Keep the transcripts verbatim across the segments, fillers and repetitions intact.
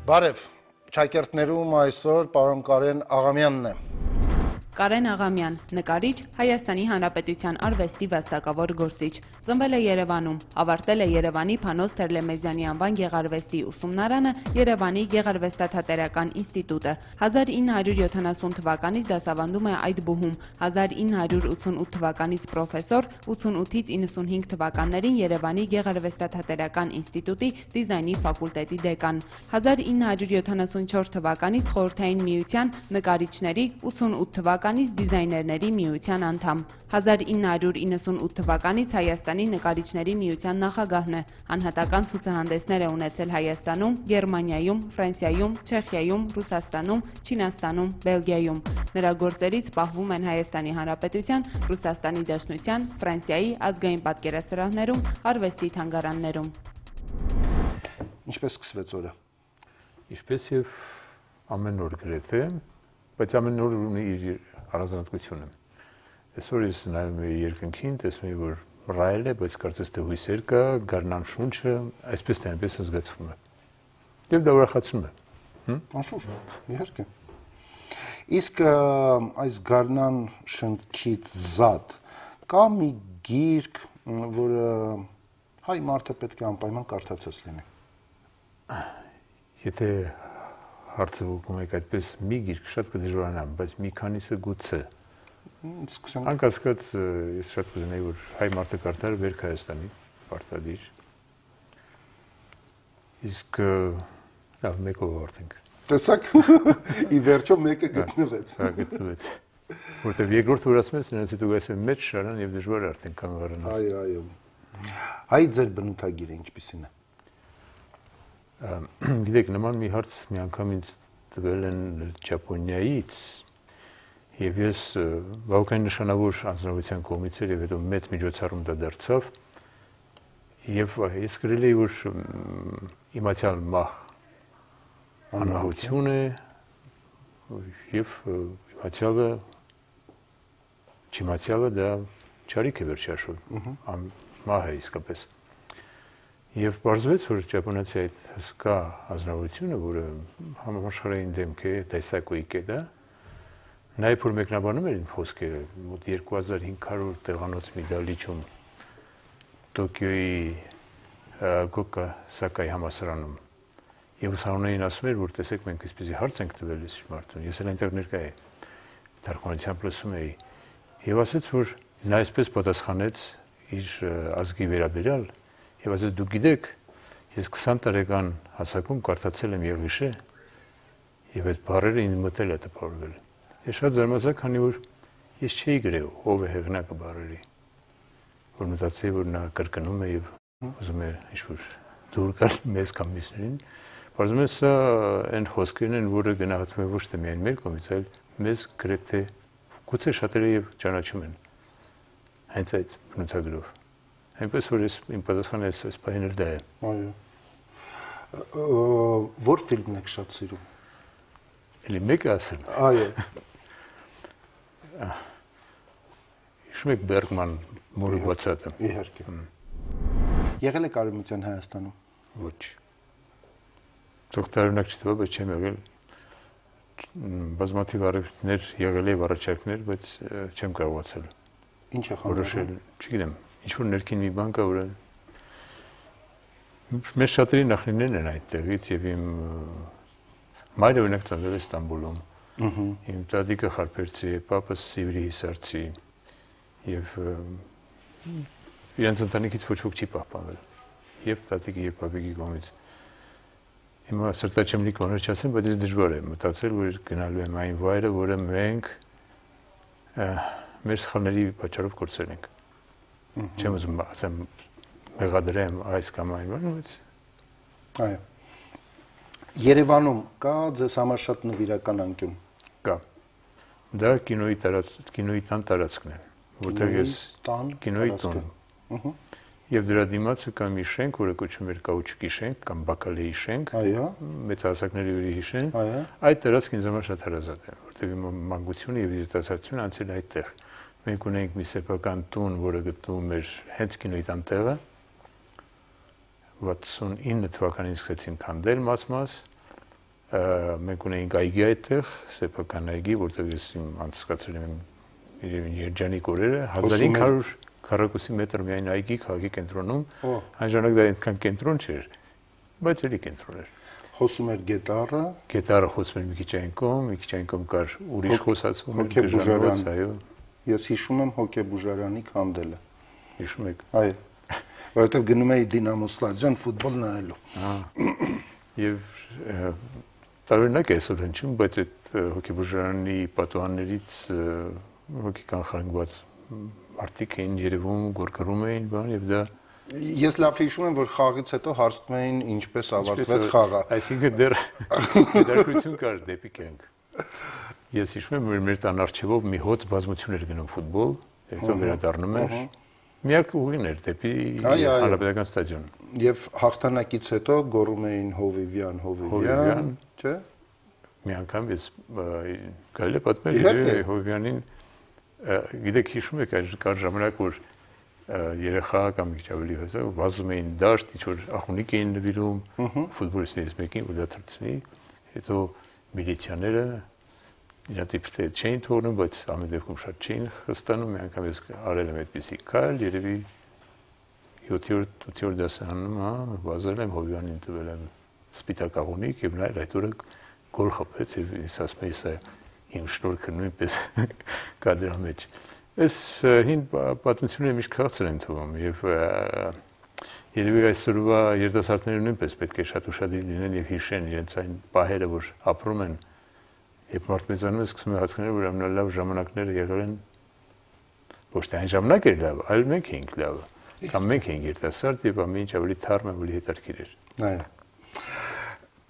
Բարև, ճակերտներում այսօր պարոն Կարեն Աղամյանն է։ Կարեն Աղամյան, նկարիչ, Հայաստանի Հանրապետության արվեստի վաստակավոր գործիչ, ծնվել է Երևանում, ավարտել է Երևանի Փանոս Թերլեմեզյանի անվան գեղարվեստի ուսումնարանը, Երևանի Գեղարվեստաթատերական ինստիտուտը, հազար ինը հարյուր յոթանասուն թվականից դասավանդում է այդ բուհում, հազար ինը հարյուր ութսունութ թվականից պրոֆեսոր, ութսունութից իննսունհինգ թվականներին Երևանի Գեղարվեստաթատերական ինստիտուտի դիզայնի ֆակուլտետի դեկան, հազար ինը հարյուր յոթանասունչորս թվականից Խորհրդային Միության նկարիչների, ութսունութ թվականից դիզայներների միության անդամ, հազար ինը հարյուր իննսունութ թվականից Հայաստանի նկարիչների միության նախագահն է, անհատական ցուցահանդեսներ է ունեցել Հայաստանում, Գերմանիայում, Ֆրանսիայում, Չեխիայում, Ռուսաստանում, Չինաստանում, Բելգիայում, նրա գործերից պահվում են Հայաստանի Հանրապետության, Ռուսաստանի Դաշնության, Ֆրանսիայի ազգային պատկերասրահներում, արվեստի թանգարաններում։ Ինչպես սկսվեց օրը։ Ինչպես եւ ամեն օր գրեթե, բայց ամեն օր ունի իր առանձնահատկությունը։ Այսօր ես նայում եմ երկնքին, տեսնում եմ, որ ռայել է, բայց կարծես թե հույսեր կա, գարնան շունչը, այսպես թե այնպես զգացվում է։ Եվ դա ուրախացնում է։ Անշուշտ, իհարկե։ Իսկ այս գարնան շնչից զատ կա մի գիրք, որը հայ մարդը պետք է անպայման կարդացած լինի։ Եթե հարցը ուղղում եք այդպես մի գիրք շատ կդժվարանամ, բայց մի քանիսը գուցե։ Անկասկած ես շատ կուզենայի, որ հայ մարդը կարդար Վերք Հայաստանի պարտադիր։ Իսկ լավ, մեկով ավարտենք։ Տեսակ, ի վերջո մեկը գտնվեց։ Հա, գտնվեց։ Որտեվ երկրորդ որ ասում ես, նրանց հետո գայս մեծ շարան եւ դժվար է արդեն կանգառանալ։ Այո, այո։ Հայ ձեր բնութագիրը ինչպիսին է։ Գիտեք, նման մի հարց մի անգամ ինձ տվել են Ճապոնիայից եւ ես բավականին նշանավոր անձնավորության կողմից էր եւ հետո մեծ միջոցառում դա դարձավ եւ ես գրել էի, որ իմացյալ մահ անհահություն է եւ իմացյալը չիմացյալը դա չարիք է վերջաշուտ, մահ է իսկապես։ Եվ պարզվեց, որ ճապոնացի այդ հսկա ազնվությունը, որը համաշխարհային դեմք է, տեսակույք է դա, նաև որ մեկնաբանում էր իմ խոսքերը, մոտ երկու հազար հինգ հարյուր տեղանոց մի դահլիճում Տոկիոյի Գոկասակայի համալսարանում։ Եվ ուսանողներին ասում էր, որ տեսեք, մենք այսպեսի հարց ենք տվել այս մարդուն, ես էլ այնտեղ ներկա էի, թարգմանությամբ լսում էի, եւ ասաց, որ նա այսպես պատասխանեց իր ազգի վերաբերյալ, եւ ասաց դուք գիտեք, ես քսան տարեկան հասակում կարդացել եմ Եղիշե եւ այդ բառերը ինձ մտել է տպավորվել։ Ես շատ զարմացա, քանի որ ես չէի գրել ով է հեղինակը բառերի, որ մտածեի, որ նա կրկնում է եւ ուզում է ինչ-որ դուր գալ մեզ կամ մյուսներին։ Բարձում է սա այն խոսքերն են, որը գնահատվում է ոչ թե միայն մեր կողմից, այլ մեզ գրեթե գուցե շատերը եւ ճանաչում են հենց այդ բնութագրով։ Այնպես որ ես իմ պատասխանը այս պահին էլ դա է։ Այո։ Որ ֆիլմն եք շատ սիրում։ Էլի մեկը ասեմ։ Այո։ Հիշում եք Բերգման մորը բացատը։ Իհարկե։ Եղել եք Արևմտյան Հայաստանում։ Ոչ։ Թող տարօրինակ չթվա, բայց չեմ եղել։ Բազմաթիվ առիթներ եղել եւ առաջարկներ, բայց չեմ կարողացել։ Ինչ է խնդրել։ Չգիտեմ։ Ինչ-որ ներքին մի բան կա, որ մեր շատերի նախնիներն են այդտեղից եւ իմ մայրը օրինակ ծնվել է Ստամբուլում։ Իմ տատիկը խարպերցի է, պապս Սիվրի Հիսարցի եւ իրենց ընտանիքից ոչ ոք չի պահպանվել։ Եվ տատիկի եւ պապիկի կողմից։ Հիմա սրտաչեմ լիք բաներ չասեմ, բայց ես դժվար է մտածել, որ գնալու եմ այն վայրը, որը մենք մեր սխալների պատճառով կորցրել ենք։ Չեմ ուզում ասեմ մեղադրեմ այս կամ այն բանը, բայց այո։ Երևանում կա ձեզ համար շատ նվիրական անկյուն։ Կա։ Դա կինոյի տարած կինոյի տան տարածքն է, որտեղ ես կինոյի տուն։ Եվ դրա դիմացը կա մի շենք, որը կոչվում էր Կաուչուկի շենք կամ Բակալեի շենք։ Այո։ Մեծահասակների ուրի շենք։ Այո։ Այդ տարածքն ինձ համար շատ հարազատ է, որտեղ իմ մանկությունը եւ երիտասարդությունը անցել այդտեղ։ Մենք ունենք մի սեփական տուն, որը գտնվում էր հենց կինոյի տան տեղը։ վաթսունինը թվականին սկսեցին քանդել մաս-մաս, մենք ունեինք այգի այդտեղ, սեփական այգի, որտեղ ես իմ անցկացրել եմ երջանիկ օրերը, հազար հինգ հարյուր քառակուսի մետր միայն այգի քաղաքի կենտրոնում, այն ժամանակ դա այնքան կենտրոն չէր, բայց էլի կենտրոն էր։ Խոսում էր գետառը, գետառը խոսում էր մի քիչ այն կողմ, մի քիչ այն կողմ կար ուրիշ խոսացում, Հոկեբուժարան, այո։ Ես հիշում եմ Հոկեբուժարանի քանդելը։ Հիշում եք։ Այո։ Որովհետև գնում էի Դինամո ստադիոն ֆուտբոլ նայելու։ Եվ տարօրինակ է այսօր հնչում, բայց այդ Հոկեբուժարանի պատուհաններից հոգի կանխարգված մարդիկ էին երևում, գորգռում էին, բան եւ դա Ես լավ հիշում եմ, որ խաղից հետո հարցնում էին ինչպես ավարտվեց խաղը։ Այսինքն դեռ դերկություն կար դեպի կյանք։ Ես հիշում եմ, որ մեր տան առջևով մի հոտ բազմություն էր գնում ֆուտբոլ, հետո վերադառնում էր։ Միակ ուղին էր դեպի Հանրապետական ստադիոն։ Եվ հաղթանակից հետո գոռում էին Հովիվյան, Հովիվյան, չէ՞։ Մի անգամ ես գալի պատմել Հովիվյանին, գիտեք հիշում եք այդ կար ժամանակ, որ երեխա կամ մի քիչ ավելի հոսա վազում էին դաշտ, ինչ որ ախունիկ էին նվիրում ֆուտբոլիստներից մեկին, որ դա թռցնի, հետո միլիցիաները իրաց իբրե չէին թողնում, բայց ամեն դեպքում շատ չէին խստանում, մի անգամ ես արել եմ այդպիսի քայլ, երևի յոթերորդ ութերորդ դասարանում, հա, վազել եմ Հովիվյանին տվել եմ սպիտակ աղունիկ եւ նա այդ օրը գոլ խփեց եւ ինձ ասում է սա իմ շնորհքը նույնպես կա դրա մեջ։ Այս հին պատմությունները միշտ քաղցր են թվում եւ երևի այսօրվա երիտասարդները նույնպես պետք է շատ ուշադիր լինեն եւ հիշեն իրենց այն պահերը, որ ապրում են եւ մարդ մեծանում է սկսում է հասկանալ, որ ամենալավ ժամանակները եղել են ոչ թե այն ժամանակ էր լավ, այլ մենք էինք լավը կամ մենք էինք երիտասարդ եւ ամեն ինչ ավելի թարմ ավելի հետաքրքիր էր։ Այո։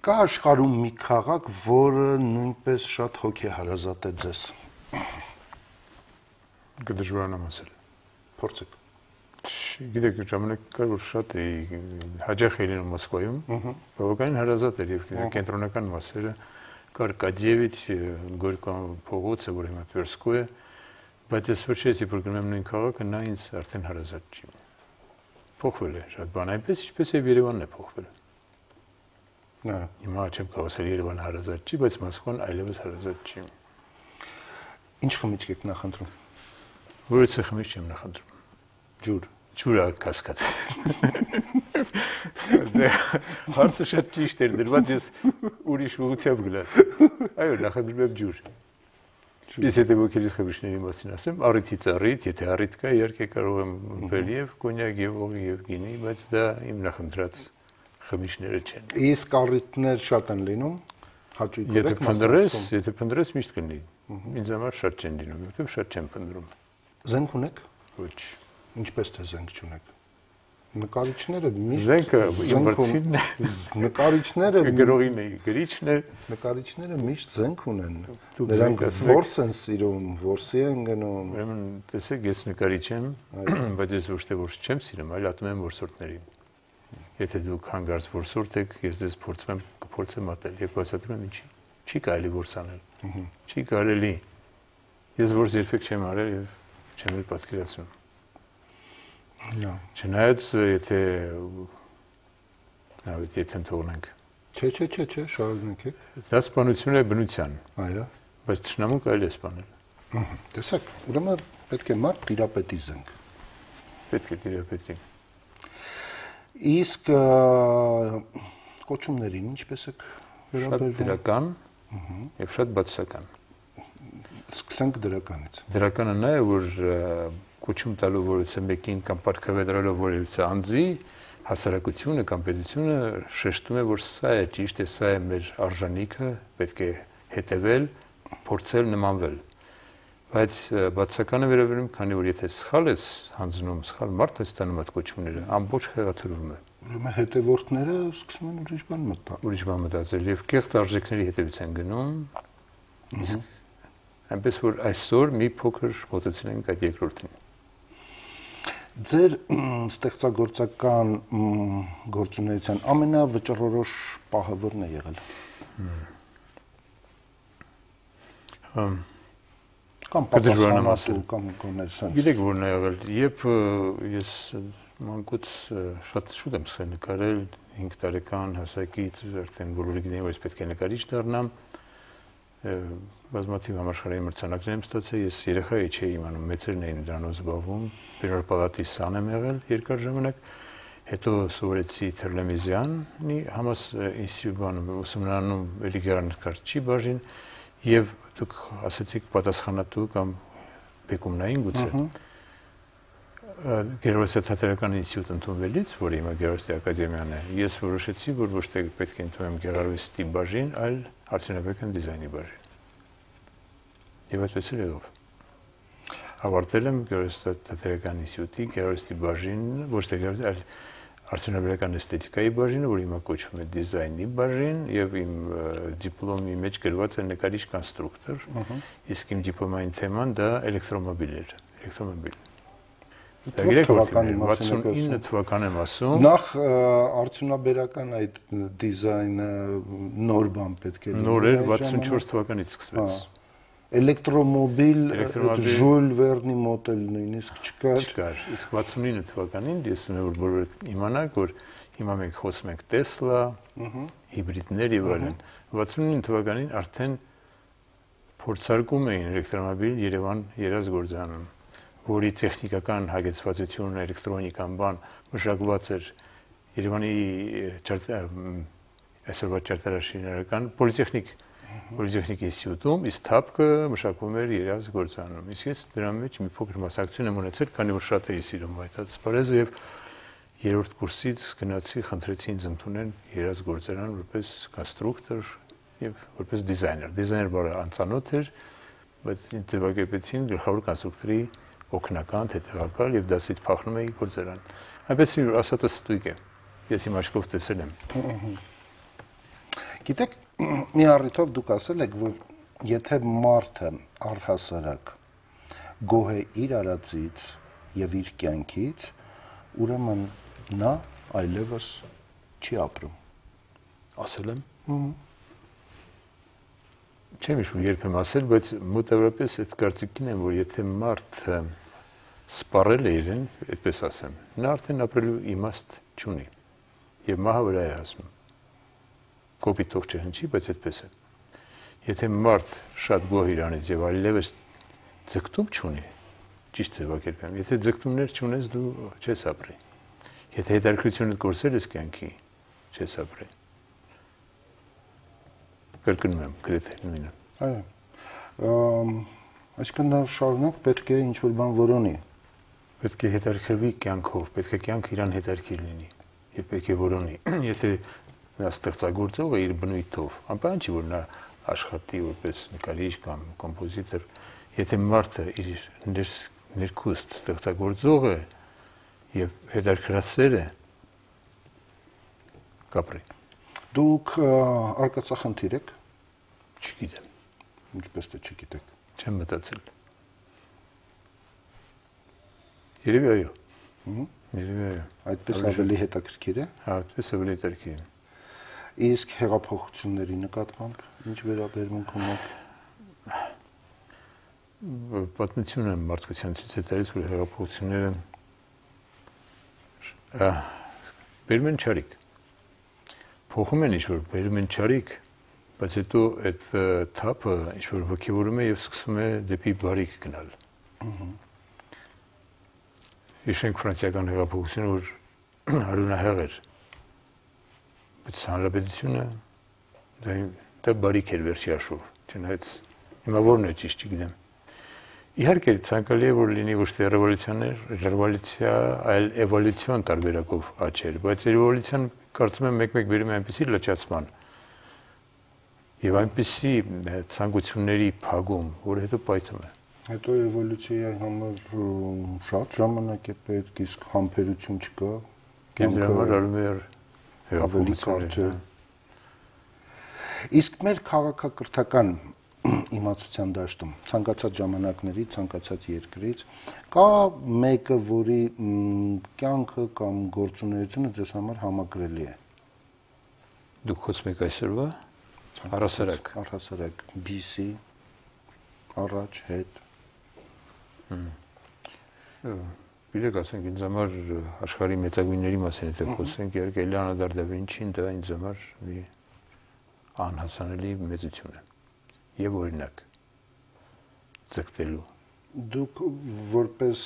Կա աշխարհում մի քաղաք, որը նույնպես շատ հոգեհարազատ է ձեզ։ Կդժվարանամ ասել։ Փորձեք։ Գիտեք, ժամանակ կար, որ շատ էի հաճախ էի լինում Մոսկվայում, բավականին հարազատ էր եւ կենտրոնական մասերը կար Կադիևիչ, Գորկան փողոցը, որ հիմա Տվերսկու է, բայց ես վերջերս երբ գնում եմ նույն քաղաքը, նա ինձ արդեն հարազատ չի։ Փոխվել է շատ բան, այնպես ինչպես եւ Երևանն է փոխվել։ Նա հիմա չեմ կարող ասել Երևանը հարազատ չի, բայց Մոսկվան այլևս հարազատ չի։ Ինչ խմիչք եք նախընտրում։ Որից խմիչք եմ նախընտրում։ Ջուր։ Ջուրը կասկած։ Հարցը շատ ճիշտ էր դրված, ես ուրիշ ուղղությամբ գնաց։ Այո, նախընտրում եմ ջուր։ Ես եթե ոգելից խմիչքների մասին ասեմ, առիթից առիթ, եթե առիթ կա, իհարկե կարող եմ ըմբել եւ կոնյակ եւ օղի եւ գինի, բայց դա իմ նախընտրած խմիչքները չեն։ Իսկ առիթներ շատ են լինում, հաճույքով եք մասնակցում։ Եթե փնտրես, միշտ կլինի։ Ինձ համար շատ չեն լինում, որովհետեւ շատ չեմ փնտրում։ Զենք ունեք։ Ոչ։ Ինչպես թե զենք չունեք։ Նկարիչները միշտ զենքը իմ վրցինն է։ Նկարիչները գրողին է, գրիչն է։ Նկարիչները միշտ զենք ունեն։ Նրանք որս են սիրում, որսի են գնում։ Ուրեմն, տեսեք, ես նկարիչ եմ, բայց ես ոչ թե որս չեմ սիրում, այլ ատում եմ որսորդներին։ Եթե դուք հանգարց որսորդ եք, ես ձեզ փորձում եմ, կփորձեմ ատել, եւ բացատրում եմ ինչի։ Չի կարելի որս անել։ Չի կարելի։ Ես որս երբեք չեմ արել եւ չեմ էլ պատկերացնում։ Նա։ Չնայած եթե nawet եթե թողնենք։ Չէ, չէ, չէ, չէ, շարունակեք։ Դա սպանություն է բնության։ Այո։ Բայց ճշնամուն կարելի է սպանել։ Տեսեք, ուրեմն պետք է մարդ տիրապետի զենք։ Պետք է տիրապետի։ Իսկ կոչումներին ինչպես եք վերաբերվում։ Շատ դրական եւ շատ բացասական։ Սկսենք դրականից։ Դրականը նա է, որ կոչում տալու որևէ մեկին կամ պարգևադրելով որևէ անձի հասարակությունը կամ պետությունը շեշտում է, որ սա է ճիշտ է, սա է մեր արժանիքը, պետք է հետևել, փորձել նմանվել։ Բայց բացականը վերաբերում, քանի որ եթե սխալ ես հանձնում, սխալ մարդ ես ստանում այդ կոչումները, ամբողջ խեղաթյուրվում է։ Ուրեմն հետևորդները սկսում են ուրիշ բան մտածել։ Ուրիշ բան մտածել եւ կեղծ արժեքների հետևից են գնում։ Իսկ այնպես որ այսօր մի փոքր մոտեցել ենք այդ երկրորդին։ Ձեր ստեղծագործական գործունեության ամենավճռորոշ պահը ո՞րն է եղել։ Հմ Կամ պատասխանատու կամ գոնե sense։ Գիտեք որն է եղել, երբ ես մանկուց շատ շուտ եմ սկսել նկարել, հինգ տարեկան հասակից արդեն բոլորը գիտեն, որ ես պետք է նկարիչ դառնամ։ Բազմաթիվ համաշխարհային մրցանակներ եմ ստացել, ես երեխա չէի իմանում, մեծերն էին դրանով զբաղվում, Բերար պալատի սան եմ եղել երկար ժամանակ, հետո սովորեցի Թերլեմեզյանի համաս ինստիտուտում ուսումնարանում էլի գեղանկարչի բաժին եւ դուք ասացիք պատասխանատու կամ բեկումնային գուցե Գեղարվեստիական ինստիտուտ ընդունվելից, որը հիմա Գեղարվեստի ակադեմիան է, ես որոշեցի, որ ոչ թե պետք է ընդունեմ գեղարվեստի բաժին, այլ արդյունաբերական դիզայնի բաժին։ Եվ այդպես էլ եղավ։ Ավարտել եմ Գեղարվեստիական ինստիտուտի գեղարվեստի բաժինը, ոչ թե գեղարվեստի, այլ արդյունաբերական էսթետիկայի բաժինը, որը հիմա կոչվում է դիզայնի բաժին, եւ իմ դիպլոմի մեջ գրված է նկարիչ կոնստրուկտոր, իսկ իմ դիպլոմային թեման դա էլեկտրոմոբիլ էր, էլեկտրոմոբիլ։ վաթսունինը թվական եմ ասում։ Նախ արդյունաբերական այդ դիզայնը նոր բան պետք է լինի։ Նոր էր, վաթսունչորս թվականից սկսվեց։ Էլեկտրոմոբիլ, Ժուլ Վերնի մոդել նույնիսկ չկար։ Չկար։ Իսկ վաթսունինը թվականին ես ունեմ որ բոլորը իմանաք, որ հիմա մենք խոսում ենք Տեսլա, հիբրիդներ եւ այլն։ վաթսունինը թվականին արդեն փորձարկում էին էլեկտրոմոբիլ Երևան երազգործանում, որի տեխնիկական հագեցվածությունը, էլեկտրոնիկան բան մշակված էր Երևանի այսօրվա ճարտարաշինարական պոլիտեխնիկ Պոլիտեխնիկ ինստիտուտում, իսկ թափքը մշակվում էր երազգործանում։ Իսկ ես դրա մեջ մի փոքր մասնակցություն եմ ունեցել, քանի որ շատ էի սիրում այդ սպարեզը եւ երրորդ կուրսից գնացի, խնդրեցի ինձ ընդունել երազգործարան որպես կոնստրուկտոր եւ որպես դիզայներ։ Դիզայներ բառը անծանոթ էր, բայց ինձ ձևակերպեցին գլխավոր կոնստրուկտորի օգնական, հետևակալ եւ դասից փախնում էի գործարան։ Այնպես որ ասածը ստույգ է։ Ես իմ աչքով տեսել եմ։ Գիտեք, մի առիթով դուք ասել եք, որ եթե մարդը առհասարակ գոհ է իր արածից եւ իր կյանքից, ուրեմն նա այլևս չի ապրում։ Ասել եմ։ Չեմ հիշում երբ եմ ասել, բայց մոտավորապես այդ կարծիքին եմ, որ եթե մարդը սպառել է իրեն, այդպես ասեմ, նա արդեն ապրելու իմաստ չունի եւ մահը վրա է հասնում։ Կոպիտ թող չհնչի, բայց այդպես է։ Եթե մարդ շատ գոհ իրանից եւ այլևս ձգտում չունի, ճիշտ ձևակերպեմ, եթե ձգտումներ չունես, դու չես ապրի։ Եթե հետաքրքրությունդ կորցրել ես կյանքի, չես ապրի։ Կրկնում եմ, գրեթե նույնը։ Այո։ Այսինքն նա շարունակ պետք է ինչ-որ բան որոնի։ Պետք է հետաքրքրվի կյանքով, պետք է կյանքը իրան հետաքրքիր լինի եւ պետք է որոնի։ Եթե նա ստեղծագործող է իր բնույթով, անպայման չի որ նա աշխատի որպես նկարիչ կամ կոմպոզիտոր, եթե մարդը իր ներքուստ ստեղծագործող է եւ հետաքրքրասեր է, կապրի։ Դուք արկածախնդիր եք։ Չգիտեմ։ Ինչպես թե չգիտեք։ Չեմ մտածել։ Երևի այո։ Երևի այո։ Այդպես ավելի հետաքրքիր է։ Հա, այդպես ավելի հետաքրքիր է։ Իսկ հեղափոխությունների նկատմամբ ինչ վերաբերմունք ունեք։ Պատմությունը մարդկության ցույց է տալիս, որ հեղափոխությունները բերում են չարիք։ Փոխում են ինչ-որ, բերում են չարիք, բայց հետո այդ թափը ինչ-որ ոգևորում է եւ սկսում է դեպի բարիք գնալ։ Հիշենք ֆրանսիական հեղափոխությունը, որ արյունահեղ էր։ Բայց հանրապետությունը դա բարիք էր վերջի հաշվով, չնայած հիմա որն է ճիշտ չգիտեմ։ Իհարկե ցանկալի է որ լինի ոչ թե ռևոլյուցիաներ, ռևոլյուցիա, այլ էվոլյուցիոն տարբերակով աճեր, բայց էվոլյուցիան կարծում եմ մեկ-մեկ բերում է այնպիսի լճացման եւ այնպիսի ցանկությունների փագում, որ հետո պայթում է։ Հետո էվոլյուցիայի համար շատ ժամանակ է պետք, իսկ համբերություն չկա։ Դրա համար արվում է ավելի կարճ է։ Իսկ մեր քաղաքակրթական իմացության դաշտում ցանկացած ժամանակների, ցանկացած երկրից կա մեկը, որի կյանքը կամ գործունեությունը ձեզ համար համակրելի է։ Դուք խոսում եք այսօրվա առհասարակ, առհասարակ բիսի առաջ հետ։ Գիտեք, ասենք ինձ համար աշխարհի մեծագույնների մասին եթե խոսենք, իհարկե Լեոնարդո դա Վինչին դա ինձ համար մի անհասանելի մեծություն է եւ օրինակ ձգտելու։ Դուք որպես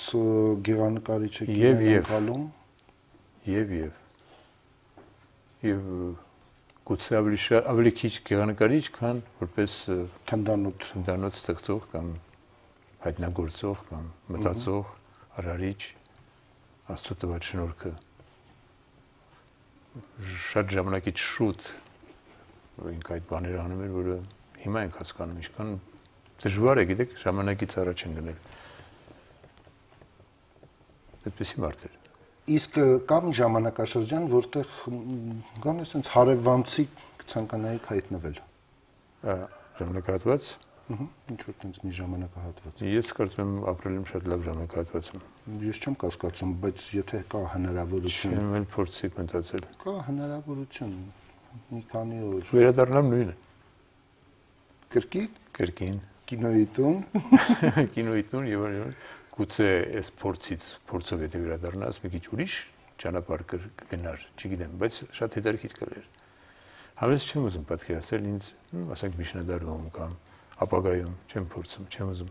գեղանկարիչ եք անցալում եւ եւ եւ գուցե ավելի ավելի քիչ գեղանկարիչ, քան որպես թնդանոթ թնդանոթ ստեղծող կամ հայտնագործող կամ մտածող արարիչ Աստծո տված շնորհքը շատ ժամանակից շուտ ինք այդ բաները անում էր, որը հիմա ենք հասկանում, ինչքան դժվար է, գիտեք, ժամանակից առաջ են գնել։ Այդպեսի մարդ էր։ Իսկ կա մի ժամանակաշրջան, որտեղ գոնե sense հարևանցի ցանկանայիք հայտնվել։ Ժամանակահատված։ Ահա, ինչ որ տենց մի ժամանակահատված։ Ես կարծում եմ ապրել եմ շատ լավ ժամանակահատվածում։ Ես չեմ կասկածում, բայց եթե կա հնարավորություն։ Չեմ էլ փորձի մտածել։ Կա հնարավորություն մի քանի օր։ Վերադառնամ նույնը։ Կրկին, կրկին կինոյի տուն, կինոյի տուն եւ այլն։ Գուցե այս փորձից, փորձով եթե վերադառնաս, մի քիչ ուրիշ ճանապարհ կգնար, չգիտեմ, բայց շատ հետաքրքիր կլեր։ Համես չեմ ուզում պատկերացնել ինձ, ասենք միջնադարում կամ ապագայում, չեմ փորձում, չեմ ուզում։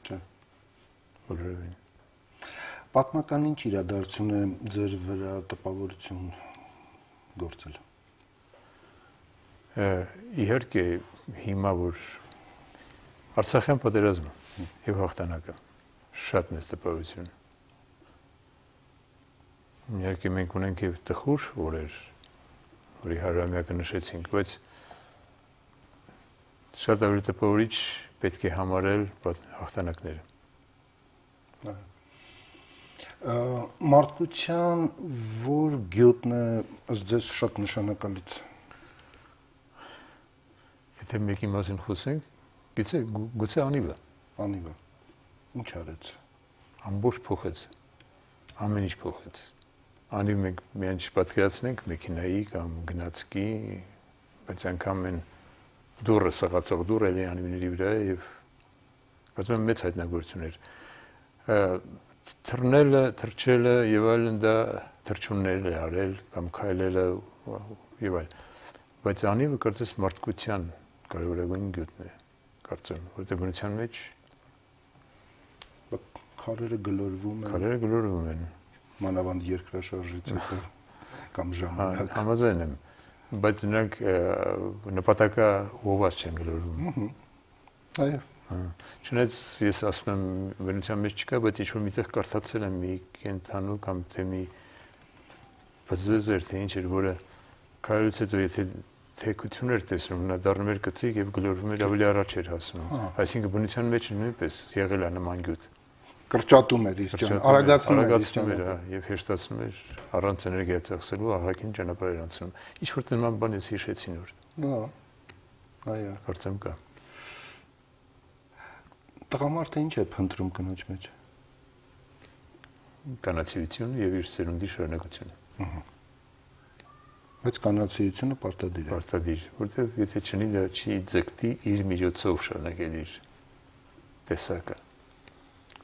Չէ։ Որովին։ Պատմական ինչ իրադարձություն է ձեր վրա տպավորություն գործել։ Իհարկե հիմա որ Արցախյան պատերազմը եւ հաղթանակը շատ մեծ տպավորություն։ Իհարկե մենք ունենք եւ տխուր օրեր, որի հարյուրամյակը նշեցինք, բայց շատ ավելի տպավորիչ պետք է համարել հաղթանակները։ Մարդկության որ գյուտն է ըստ ձեզ շատ նշանակալից։ Եթե մեկի մասին խոսենք, գուցե գուցե անիվը։ Անիվը։ Ինչ արեց։ Ամբողջ փոխեց։ Ամեն ինչ փոխեց։ Անիվ մենք միայն չպատկերացնենք մեքենայի կամ գնացքի, բայց անգամ են դուրը սղացող դուր էլի անիվների վրա եւ կարծում եմ մեծ հայտնագործություն էր։ Թռնելը, թռչելը եւ այլն դա թռչուններ է արել կամ քայլելը եւ այլ։ Բայց անիվը կարծես մարդկության կարևորագույն գյուտն է, կարծեմ, որտեղ բնության մեջ քարերը գլորվում են։ Քարերը գլորվում են։ Մանավանդ երկրաշարժից հետո կամ ժամանակ։ Համաձայն եմ, բայց նրանք նպատակա ուղղված չեն գլորվում։ Այո։ Չնայած ես ասում եմ բնության մեջ չկա, բայց ինչ որ միտեղ կարդացել եմ մի կենթանու կամ թե մի բզեզեր, թե ինչ էր, որը քայլից հետո եթե թեքություն էր տեսնում, նա դառնում էր կծիկ եւ գլորվում էր ավելի առաջ էր հասնում։ Այսինքն բնության մեջ նույնպես եղել է նման գյուտ։ Կրճատում էր իր ճան, արագացնում էր, արագացնում էր եւ հեշտացնում էր առանց էներգիա ծախսելու ահագին ճանապարհ էր անցնում։ Ինչ որ նման բան ես հիշեցի նոր։ Հա։ Այո։ Կարծեմ կա։ Տղամարդը ինչ է փնտրում կնոջ մեջ։ Կանացիություն եւ իր սերունդի շարունակություն։ Ահա։ Բայց կանացիությունը պարտադիր է։ Պարտադիր, որտեղ եթե չնի դա չի ձգտի իր միջոցով շարունակել իր տեսակը։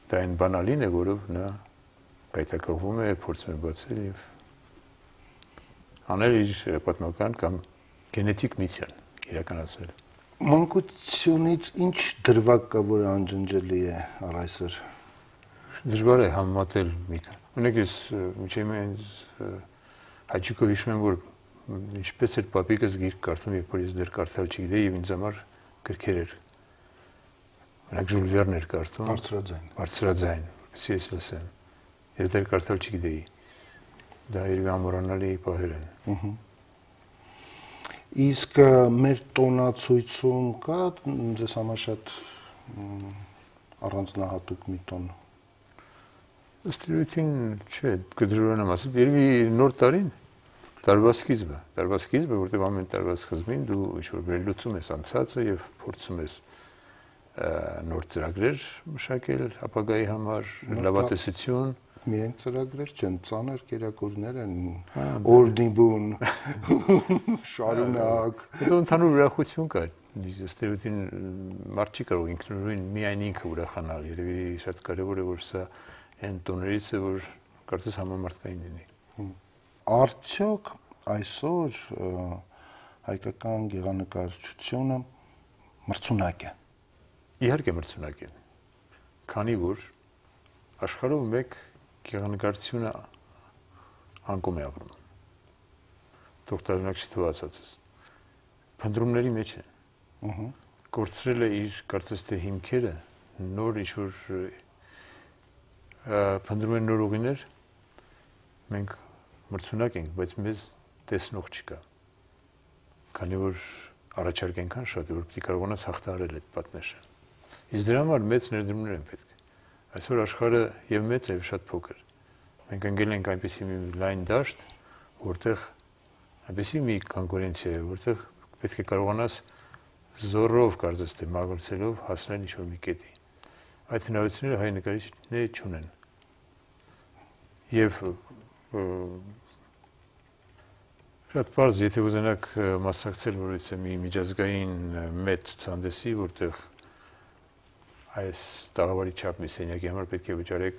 Դա այն բանալին է, որով նա կայտակղվում է, փորձում է բացել եւ անել իր պատմական կամ գենետիկ միսիան իրականացնել։ Մանկությունից ինչ դրվագ կա, որը անջնջելի է առ այսօր։ Դժվար է համատել մի քան։ Ունեք ես միջև ինձ հաճիկով հիշում եմ, որ ինչպես էր պապիկս գիրք կարդում, երբ որ ես դեռ կարդալ չգիտեի եւ ինձ համար գրքեր էր։ Օրինակ Ժուլ Վերն էր կարդում։ Բարձրաձայն։ Բարձրաձայն, որպեսզի ես լսեմ։ Ես դեռ կարդալ չգիտեի։ Դա իր ամորանալի պահեր են։ Ահա։ Իսկ մեր տոնացույցում կա ձեզ համար շատ առանձնահատուկ մի տոն։ Ըստ էության չէ, կդժվարանամ ասել, երևի նոր տարին տարվա սկիզբը, տարվա սկիզբը, որտեղ ամեն տարվա սկզբին դու ինչ-որ վերլուծում ես անցածը եւ փորձում ես նոր ծրագրեր մշակել ապագայի համար, լավատեսություն։ Միայն ծրագրեր չեն, ծանր կերակուրներ են, օրդիբուն, շարունակ։ Դա ընդհանուր ուրախություն կա, ըստ էության մարդ չի կարող ինքնուրույն միայն ինքը ուրախանալ, երևի շատ կարևոր է, որ սա այն տոներից է, որ կարծես համամարտկային լինի։ Արդյոք այսօր հայկական գեղանկարչությունը մրցունակ է։ Իհարկե մրցունակ է։ Քանի որ աշխարհում մեկ գեղանկարչությունը անկում է ապրում։ Թող տարօրինակ չթվացածս։ Փնտրումների մեջ է։ Ահա։ Կորցրել է իր կարծես թե հիմքերը, նոր ինչ-որ փնտրում են նոր ուղիներ, մենք մրցունակ ենք, բայց մեզ տեսնող չկա։ Քանի որ առաջարկ այնքան շատ է, որ պիտի կարողանաս հաղթահարել այդ պատնեշը։ Իսկ դրա համար մեծ ներդրումներ են պետք։ Այսօր աշխարհը եւ մեծ է եւ շատ փոքր։ Մենք ընկել ենք այնպիսի մի լայն դաշտ, որտեղ այնպիսի մի կոնկուրենցիա է, որտեղ պետք է կարողանաս զորով կարծես թե մագլցելով հասնել ինչ-որ մի կետի։ Այդ հնարավորությունները հայ նկարիչները չունեն։ Եվ շատ պարզ, եթե ուզենաք մասնակցել որևէ մի միջազգային մեծ ցուցահանդեսի, որտեղ այս տաղավարի չափ մի սենյակի համար պետք է վճարեք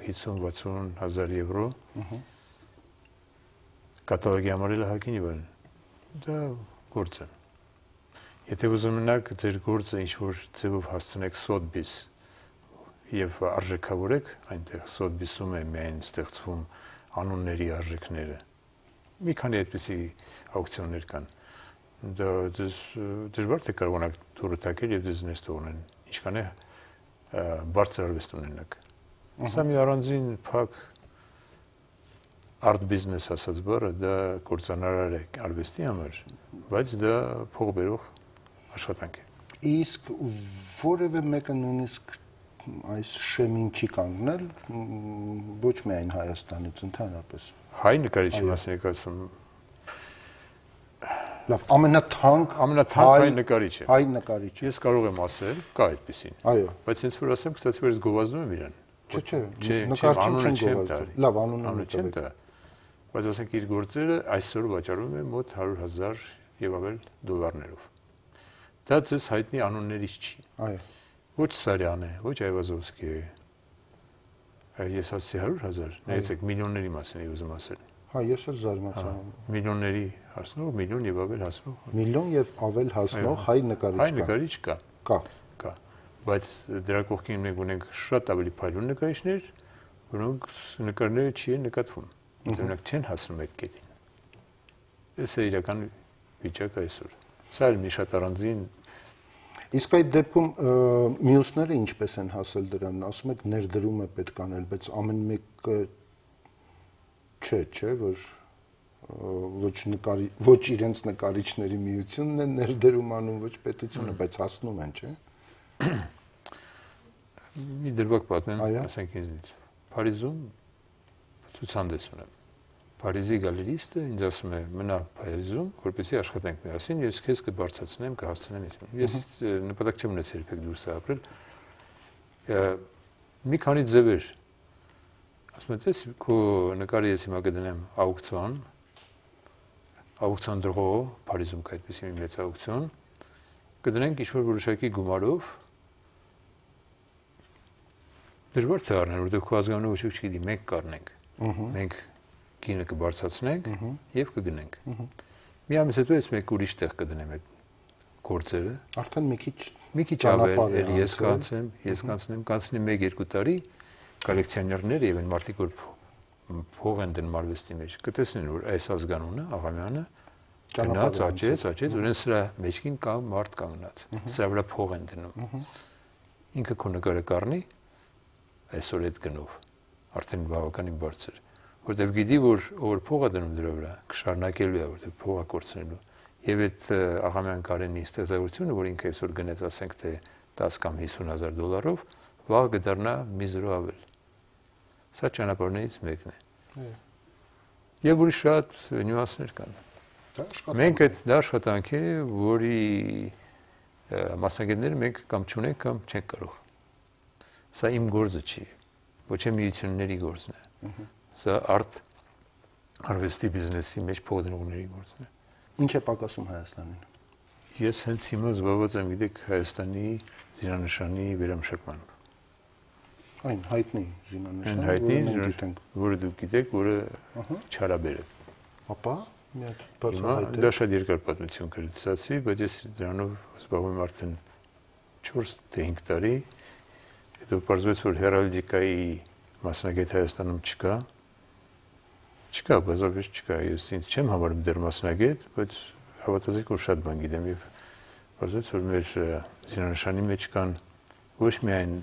հիսուն-վաթսուն հազար եվրո, կատալոգի համար էլ հագին եւ այլն։ Դա գործ է։ Եթե ուզում եք ձեր գործը ինչ-որ ձևով հասցնեք Սոթբիս եւ արժեքավորեք, այնտեղ Սոթբիսում է միայն ստեղծվում անունների արժեքները։ Մի քանի այդպիսի աուկցիոններ կան։ Դա դժվար թե կարողանաք դուրս թակել եւ դες նես թողնեն։ Ինչքան է բարձր արվեստ ունենաք։ Սա մի առանձին փակ art business ասած բառը դա կործանարար է արվեստի համար, բայց դա փող բերող աշխատանք է։ Իսկ որևէ մեկը նույնիսկ այս շեմին չի կանգնել, ոչ միայն Հայաստանից, ընդհանրապես։ Հայ նկարիչի մասին եք ասում։ Լավ, ամենաթանկ ամենաթանկ հայ նկարիչը։ Հայ նկարիչը։ Ես կարող եմ ասել, կա այդպեսին։ Այո։ Բայց ինձ որ ասեմ, կստացի որ ես գովազդում եմ իրան։ Չէ, չէ, նկարչություն չեն գովազդում։ Լավ, անունը չեմ տա։ Բայց ասենք իր գործերը այսօր վաճառվում են մոտ հարյուր հազար եւ ավել դոլարներով։ Դա ձեզ հայտնի անուններից չի։ Այո։ Ոչ Սարյան է, ոչ Այվազովսկի է։ Ես ասացի հարյուր հազար, նայեցեք միլիոնների մասին եմ ուզում ասել։ Հա, ես էլ զարմացա։ Միլիոնների հասնող, միլիոն եւ ավել հասնող։ Միլիոն եւ ավել հասնող հայ նկարիչ կա։ Հայ նկարիչ կա։ Կա։ Կա։ Բայց դրա կողքին մենք ունենք շատ ավելի փայլուն նկարիչներ, որոնք նկարները չի են նկատվում։ Դրանք չեն հասնում այդ կետին։ Այս է իրական վիճակը այսօր։ Սա էլ մի շատ առանձին։ Իսկ այդ դեպքում մյուսները ինչպես են հասել դրան, ասում եք ներդրում է պետք անել, բայց ամեն մեկը չէ, չէ, որ ոչ նկարի ոչ իրենց նկարիչների միությունն է ներդրում անում, ոչ պետությունը, բայց հասնում են, չէ։ Մի դրվագ պատմեմ, ասենք ինձ։ Փարիզում ցուցահանդես ունեմ։ Փարիզի գալերիստը ինձ ասում է՝ մնա Փարիզում, որպեսզի աշխատենք միասին, ես քեզ կբարձրացնեմ, կհասցնեմ ես։ Ես նպատակ չեմ ունեցել երբեք դուրս ապրել։ Մի քանի ձևեր ասում եմ, տես քո նկարը ես հիմա կդնեմ աուկցիոն, աուկցիոն դրողով, Փարիզում կա այդպիսի մի մեծ աուկցիոն, կդնենք ինչ-որ որոշակի գումարով։ Դժվար թե առնեն, որտեղ քո ազգանունը ոչ ոք չգիտի, մենք կառնենք։ Մենք գինը կբարձրացնենք եւ կգնենք։ Մի ամիս հետո ես մեկ ուրիշ տեղ կդնեմ այդ գործերը։ Արդեն մի քիչ մի քիչ ավել, ես կանցեմ, ես կանցնեմ, կանցնի մեկ-երկու տարի կոլեկցիոներները եւ այն մարդիկ, որ փող են դնում արվեստի մեջ, կտեսնեն, որ այս ազգանունը, Աղամյանը գնաց, աճեց, աճեց, ուրեմն սրա մեջքին կա մարդ կանգնած։ Սրա վրա փող են դնում։ Ինքը քո նկարը կառնի այսօր այդ գնով, արդեն բավականին բարձր, որտեղ գիտի, որ ով փող է դնում դրա վրա, կշարունակելու է, որտեղ փող է կորցնելու։ Եվ այդ Աղամյան Կարենի ստեղծագործությունը, որ ինքը այսօր գնեց, ասենք թե դես կամ հիսուն հազար դոլարով, վաղ կդառնա մի զրո ավել։ Սա ճանապարհներից մեկն է։ Եվ ուրիշ շատ նյուանսներ կան։ Մենք այդ դա աշխատանք է, որի մասնագետները մենք կամ չունենք, կամ չենք կարող։ Սա իմ գործը չի, ոչ է միությունների գործն է։ Սա արտ արվեստի բիզնեսի մեջ փող դնողների գործն է։ Ինչ է պակասում Հայաստանին։ Ես հենց հիմա զբաղված եմ, գիտեք, Հայաստանի զինանշանի վերամշակմամբ։ Այն հայտնի զինանշան, հայտնի, որը մենք գիտենք։ որը դուք գիտեք, որը Չարաբեր է։ Ապա մի հատ Հիմա բացահայտել։ դա շատ երկար պատմություն կրծացի, բայց ես դրանով զբաղվում եմ արդեն չորս թե հինգ տարի։ Հետո պարզվեց, որ հերալդիկայի մասնագետ Հայաստանում չկա։ Չկա, բազմապես չկա։ Ես ինձ չեմ համարում դեռ մասնագետ, բայց հավատացեք, որ շատ բան գիտեմ եւ պարզվեց, որ մեր զինանշանի մեջ կան ոչ միայն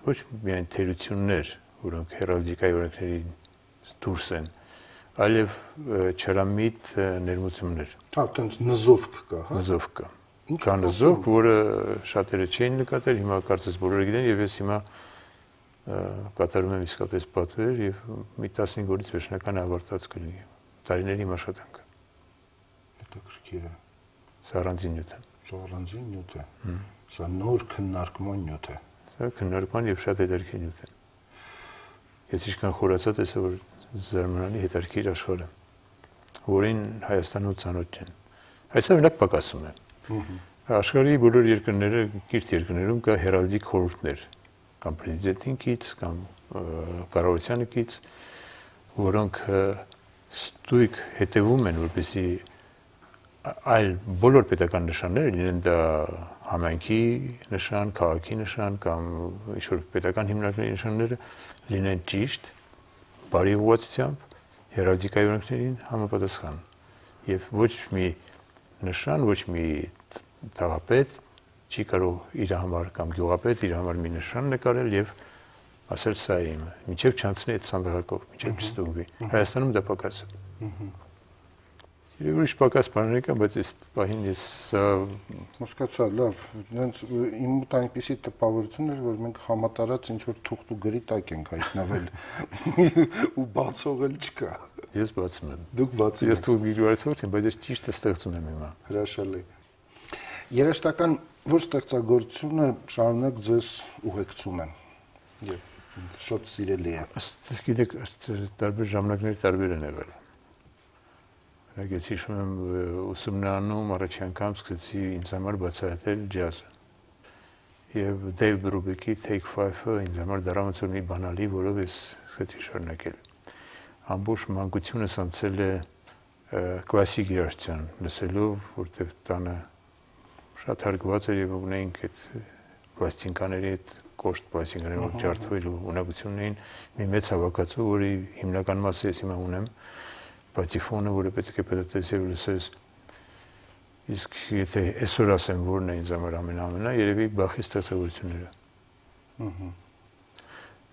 ոչ միայն թերություններ, որոնք հերալդիկայի օրենքների դուրս են, այլև չարամիտ ներմուծումներ։ Հա, տենց նզովք կա, հա։ Նզով կա։ Կա նզով, որը շատերը չէին նկատել, հիմա կարծես բոլորը գիտեն եւ ես հիմա կատարում եմ իսկապես պատվեր եւ մի տասնհինգ օրից վերջնական ավարտած կլինի։ Տարիների աշխատանքը։ Հետաքրքիր է։ Սա առանձին նյութ է։ Սա առանձին նյութ է։ Սա նոր քննարկման նյութ է։ Սա քննարկման եւ շատ հետաքրքիր նյութ է։ Ես ինչքան խորացա տեսա, որ զարմանալի հետաքրքիր աշխարհ է, որին Հայաստանում ծանոթ չեն։ Այսօր մենակ պակասում է։ Աշխարհի բոլոր երկրները, կիրթ երկրներում կա հերալդիկ խորհուրդներ, կամ պրեզիդենտինքից, կամ կառավարությանից, որոնք ստույգ հետևում են, որպեսզի այլ բոլոր պետական նշանները, լինեն դա համայնքի նշան, քաղաքի նշան կամ ինչ-որ պետական հիմնարկների նշանները լինեն ճիշտ, բարի ուղղվածությամբ, հերալդիկայի օրենքներին համապատասխան։ Եվ ոչ մի նշան, ոչ մի թաղապետ չի կարող իր համար կամ գյուղապետ իր համար մի նշան նկարել եւ ասել սա է իմը, մինչեւ չանցնի այդ սանդղակով, մինչեւ չստուգվի։ Հայաստանում դա պակաս է։ Երբ ուրիշ պակաս բաներ կան, բայց այս պահին ես հասկացա, լավ, դրանց իմ մոտ այնպեսի տպավորություն էր, որ մենք համատարած ինչ որ թուղթ ու գրի տակ ենք հայտնվել ու բացողել չկա։ Ես բացում եմ։ Դուք բացում եք։ Ես թուղթ գրվածող չեմ, բայց ես ճիշտը ստեղծում եմ հիմա։ Հրաշալի։ Երաժշտական ոչ ստեղծագործությունը շարունակ ձեզ ուղեկցում է եւ շատ սիրելի է։ Գիտեք, տարբեր ժամանակների տարբեր են եղել։ Ես հիշում եմ ուսումնարանում առաջի անգամ սկսեցի ինձ համար բացահայտել ջազը։ Եվ Դեյվ Բրուբեկի Take Five-ը ինձ համար դառնաց մի բանալի, որով ես սկսեցի շարունակել։ Ամբողջ մանկությունս անցել է կլասիկ երաժշտության լսելով, որտեղ տանը շատ հարգված էր եւ ունեինք այդ պլաստինկաների այդ կոշտ պլաստինկաների, որ ջարդվելու ունակությունն էին մի մեծ հավաքածու, որի հիմնական մասը ես հիմա ունեմ, պատիֆոնը, որը պետք է պետք է լսես։ Իսկ եթե այսօր ասեմ, որն է ինձ համար ամենամենա, երևի Բախի ստեղծագործությունները։ Ահա։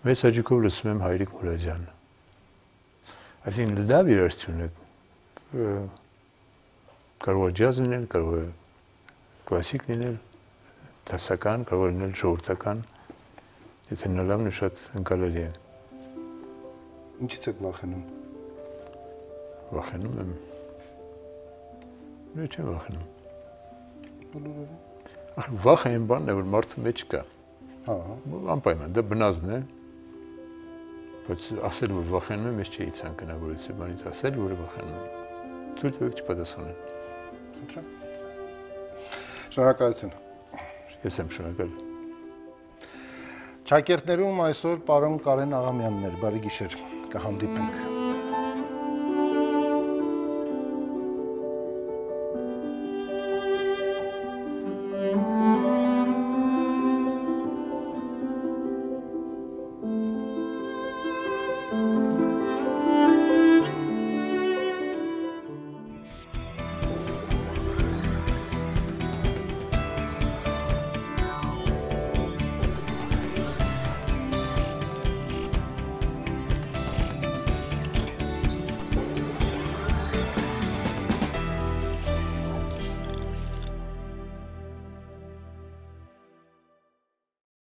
Մեծ հաճույքով լսում եմ Հայրիկ Մուրադյանը։ Այսինքն լավ երաժշտություն է, կարող է ջազ լինել, կարող է կլասիկ լինել, դասական, կարող է լինել ժողովրդական, եթե նա լավն է, շատ ընկալելի է։ Ինչից եք վախենում։ Վախենում եմ։ Ոչ չեմ վախենում։ Բոլորովին։ Վախը այն բանն է, որ մարդու մեջ կա։ Հա։ Անպայման, դա բնազն է։ Բայց ասել, որ վախենում եմ, ես չէի ցանկանա, որ այս բանից ասել, որ վախենում եմ։ Թույլ տվեք չպատասխանել։ Խնդրեմ։ Շնորհակալություն։ Ես եմ շնորհակալ։ Ճակերտներում այսօր պարոն Կարեն Աղամյանն էր, բարի գիշեր, կհանդիպենք։